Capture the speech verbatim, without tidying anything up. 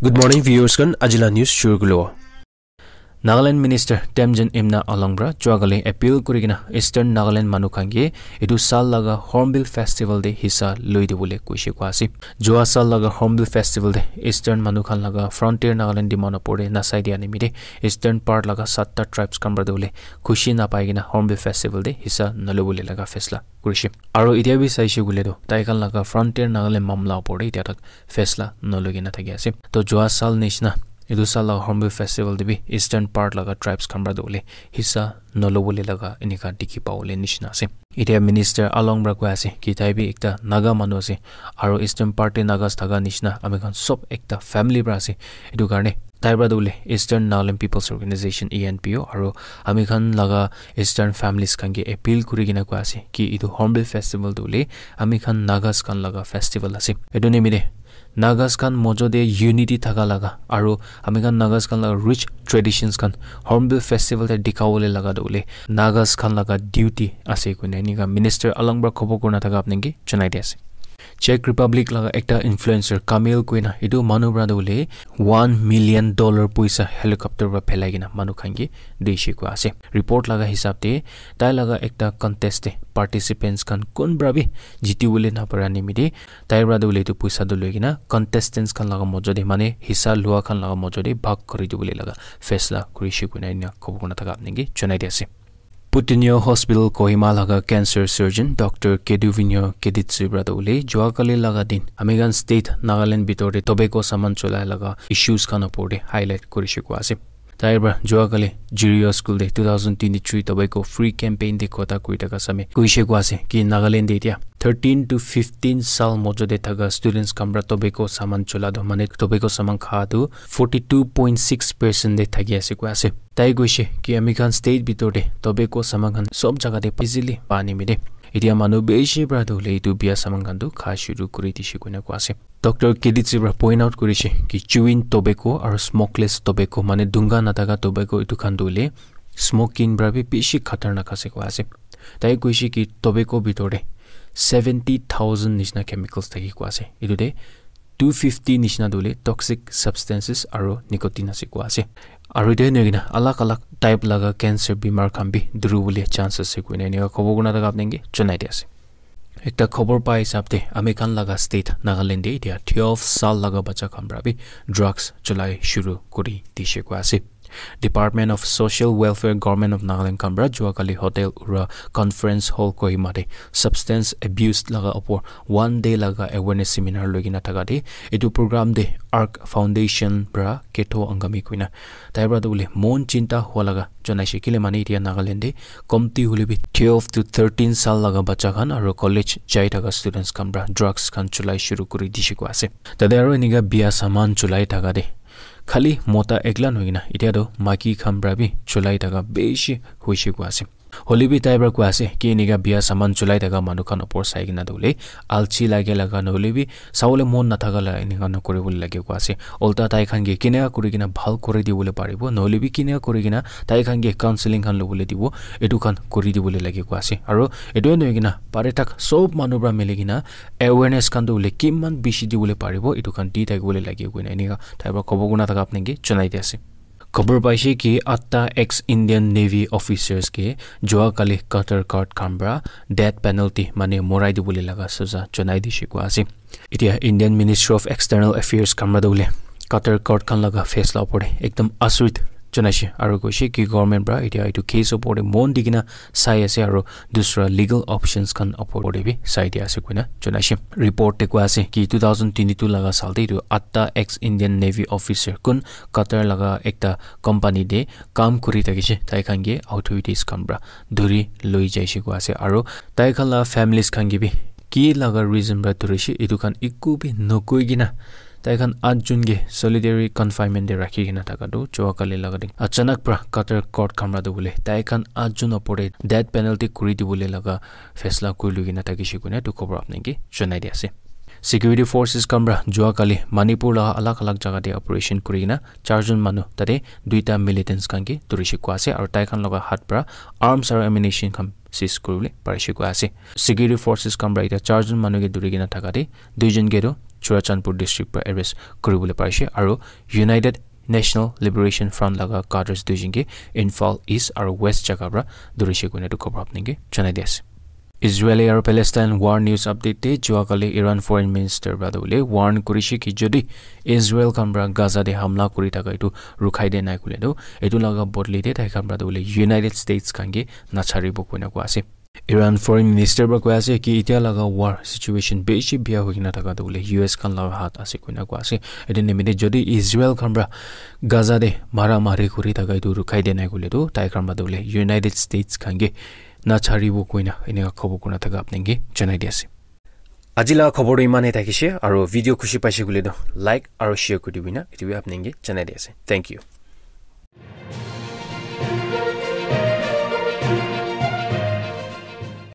Good morning, viewers khan. Ajila news shuru kulo. Nagaland Minister Temjen Imna Along pra juakali appeal kuri kena Eastern Nagaland manu khan ke etu saal laga Hornbill Festival te hissa loi dibole koishe koa ase. Jua saal laga Hornbill Festival te Eastern manu khan laga Frontier Nagaland demand opor te nasai dia nimite Eastern part laga satta tribes khan pra tu bole khushi napai kena Hornbill Festival te hissa nalobole laga faisla kurishe. Aro itia bi saishe koile tu tai khan laga Frontier Nagaland mamla opor te itia tak faisla naloi kena thaki ase. To jua saal nishina etu saal laga Hornbill Festival te bi Eastern part laga tribes khan pra tu bole hissa nalobole laga enika dikhi pabole nishina ase. Itia Minister Along pra koi ase ki tai bi ekta Naga manu ase, aro Eastern part te Nagas thaka nishina ami khan sob ekta family pra ase. Etu karne tai pra tu bole Eastern Nagaland People's Organization, E N P O, aro ami khan laga Eastern families khan ke appeal kuri kena koi ase ki etu Hornbill Festival tu bole ami khan Nagas khan laga festival ase. Etu nimite Nagas khan mojo te unity thaka laga aro ami khan Nagas khan laga rich traditions khan Hornbill Festival te dikhabole laga tu bole Nagas khan laga duty ase koina enika Minister Along pra khobor kurina thaka apni ke janai di ase. Czech Republic laga ekta influencer Kamil koina etu manu pra tu bole one million dollar poisa helicopter pra phelai kena manu khan ke dishe koa ase. Report laga hisab te tai laga ekta contest te participants khan kun pra bi jiti bole napara nimite tai pra tu bole etu poisa tu loi kena contestants khan laga mojo te mane hissa lua khan laga mojo te bhag kuri dibole laga faisla kurishe koina enika khobor kurina thaka apni ke janai di ase. Putinio Hospital Kohima laga cancer surgeon Doctor Keduvinio Keditsu pra tu bole juakali laga din ami khan state Nagaland bitor te tobacco saman cholai laga issues khan opor te highlight kurishe koa ase. Tai pra juakali Jirio School te two thousand twenty-three tobacco free campaign te kotha koi thaka same koishe koa ase ki Nagaland te itia thirteen to fifteen saal mojo te thaka students khan pra tobacco saman chola tu mane tobacco saman kha tu forty two point six percent te thaki ase koi ase. Tai koishe ki ami khan state bitor te tobacco saman khan sob jaga te easily pa nimite itia manu bishi pra tu bole etu bia saman khan tu kha shuru kuri dishe koina koi ase. Doctor Keditsu pra point out kurishe ki chewing tobacco aro smokeless tobacco mane dunga nathaka tobacco etu khan tu bole smoking pra bi bishi khatarnak ase koi ase. Tai koishe ki tobacco bitor te seventy thousand nishina chemicals thaki koi ase. Etu te two fifty nishina tu bole toxic substances aro nicotine ase koi ase. Aro etu nahoi kena alag alag type laga cancer bimar khan bi duri bole chance ase koina enika khobor kurina thaka apni ke janai di ase. Ekta khobor pa hisab te ami khan laga state Nagaland te itia twelve saal laga bacha khan pra bi drugs cholai shuru kuri dishe koi ase. Department of Social Welfare, Government of Nagaland khan pra juakali Hotel Ura Conference Hall Kohima te substance abuse laga opor one day laga awareness seminar loi kena thaka te etu program te Arc Foundation pra Ketho Angami koina tai pra tu bole mon chinta hua laga janaishe kile mane itia Nagaland te komti hoile bi twelve to thirteen saal laga bacha khan aro college jai thaka students khan pra drugs khan cholai shuru kuri dishe koi ase. Tate aro enika bia saman cholai thaka te khali mota ekla nohoi kena itia tu maiki khan pra bi cholai thaka bishi hoishe koi ase. Hoile bi tai pra koi ase ki enika bia saman cholai thaka manu khan opor sai kena tu bole alchi lage laga nohole bi sabole mon nathaka la enika nokori bole lage koi ase. Ulta tai khan ke kena kuri kena bhal kuri dibole paribo nohole bi kena kuri kena tai khan ke counseling khan lobole dibo, etu khan kuri dibole lage koi ase. Aro etu nohoi kena pare thak sob manu pra mili kena awareness khan tu bole kiman bishi dibole paribo etu khan di thakibole lage koina enika tai pra khobor kurina thaka apni ke janai di ase. Khobor paishe ki atta ex Indian Navy officers ke jua kali Qatar court khan pra death penalty mane morai dibole laga saza janai dishe koi ase. Itia Indian Ministry of External Affairs khan pra tu bole Qatar court khan laga faisla opor te ekdam asurit janaishe aro koishe ki government pra itia etu case opor te mon di kena sai ase aro dusra legal options khan opor te bi sai dia ase koina janaishe. Report te koi ase ki two thousand twenty-two laga saal te etu atta ex Indian Navy officer kun Qatar laga ekta company te kam kuri thakishe, tai khan ke authorities khan pra dhuri loi jaishe koi ase aro tai khan la families khan ke bi ki laga reason pra dhurishe etu khan eku bi nokoi kena tai khan atjon ke solitary confinement te rakhi kena thaka tu jua kali laga din achanak pra Qatar court khan pra tu bole tai khan atjon opor te death penalty kuri dibole laga faisla kuri loi kena thakishe koina etu khobor apni ke janai di ase. Security forces khan pra jua kali Manipur laga alag alag jaga te operation kuri kena charjon manu tate duita militants khan ke dhurishe koi ase aro tai khan laga hat pra arms aro ammunition khan seize kuribole parishe koi ase. Security forces khan pra etia charjon manu ke dhuri kena thaka te duijon ke tu Churachandpur district para arrest kuribole parise aru United National Liberation Front laga cadres duijon ke Imphal East aru West jaga para dhurise koina etu khobor apni ke janai di ase. Israel aru Palestine war news update te jua kali Iran foreign minister para tu bole warn kurise ki jodi Israel khan para Gaza te hamla kuri thaka etu rukhai de nai kule tu etu laga bodli te tai khan para tu bole United States khan ke nacharibo koina koa ase. Iran foreign minister para koi ase ki etia laga war situation beshi bia hoi kena thaka tu bole U S khan laga hat ase koina koa ase. Etu nimite jodi Israel khan para Gaza te mara mari kuri thaka etu rukhai de nai kule tu tai khan para tu bole United States khan ke nacharibo koina eneka khobor kurina thaka apni ke janai di ase. Aji laga khobor tu imane thakise aru video khushi paise kule tu like aru share kuri dibina etu bi apni ke janai di ase. Thank you.